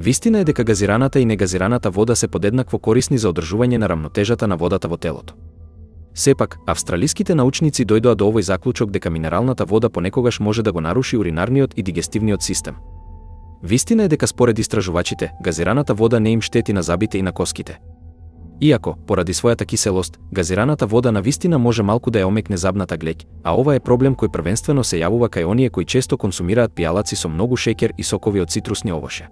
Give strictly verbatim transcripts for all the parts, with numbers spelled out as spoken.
Вистина е дека газираната и негазираната вода се подеднакво корисни за одржување на рамнотежата на водата во телото. Сепак, австралиските научници дојдоа до овој заклучок дека минералната вода понекогаш може да го наруши уринарниот и дигестивниот систем. Вистина е дека според истражувачите, газираната вода не им штети на зъбите и на коските. Иако, поради својата киселост, газираната вода на вистина може малку да ја омекне забната глеќ, а ова е проблем кој првенствено се јавува кај оние кои често консумираат пијалаци со многу шеќер и сокови од цитрусни овоше.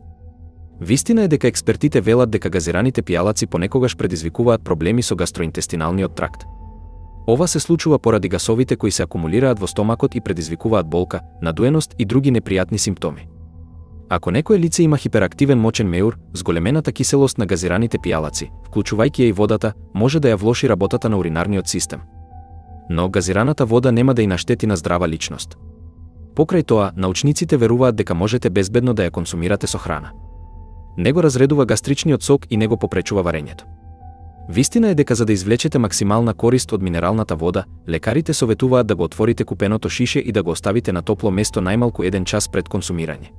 Вистина е дека експертите велат дека газираните пијалаци понекогаш предизвикуваат проблеми со гастроинтестиналниот тракт. Ова се случува поради гасовите кои се акумулираат во стомакот и предизвикуваат болка, надуеност и други непријатни симптоми. Ако некое лице има хиперактивен мочен меур, зголемената киселост на газираните пијалаци, вклучувајќи ја и водата, може да ја влоши работата на уринарниот систем. Но газираната вода нема да и наштети на здрава личност. Покрај тоа, научниците веруваат дека можете безбедно да ја консумирате со храна. Не го разредува гастричниот сок и не го попречува варењето. Вистина е дека за да извлечете максимална корист од минералната вода, лекарите советуваат да го отворите купеното шише и да го оставите на топло место најмалку еден час пред консумирање.